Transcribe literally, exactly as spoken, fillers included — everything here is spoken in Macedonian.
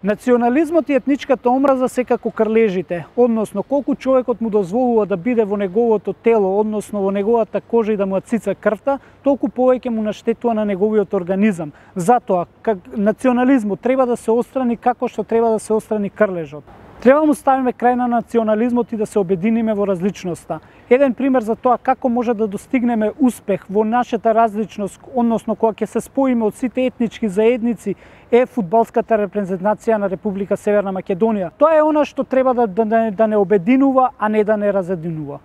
Национализмот и етничката омраза секако крлежите, односно колку човекот му дозволува да биде во неговото тело, односно во неговата кожа и да му ја цица крвта, толку повеќе му наштетува на неговиот организам. Затоа, как национализмот треба да се отстрани како што треба да се отстрани крлежот. Треба му ставиме крај на национализмот и да се обединиме во различноста. Еден пример за тоа како може да достигнеме успех во нашата различност, односно кога ќе се споиме од сите етнички заедници, е фудбалската репрезентација на Република Северна Македонија. Тоа е она што треба да, да, да не обединува, а не да не разединува.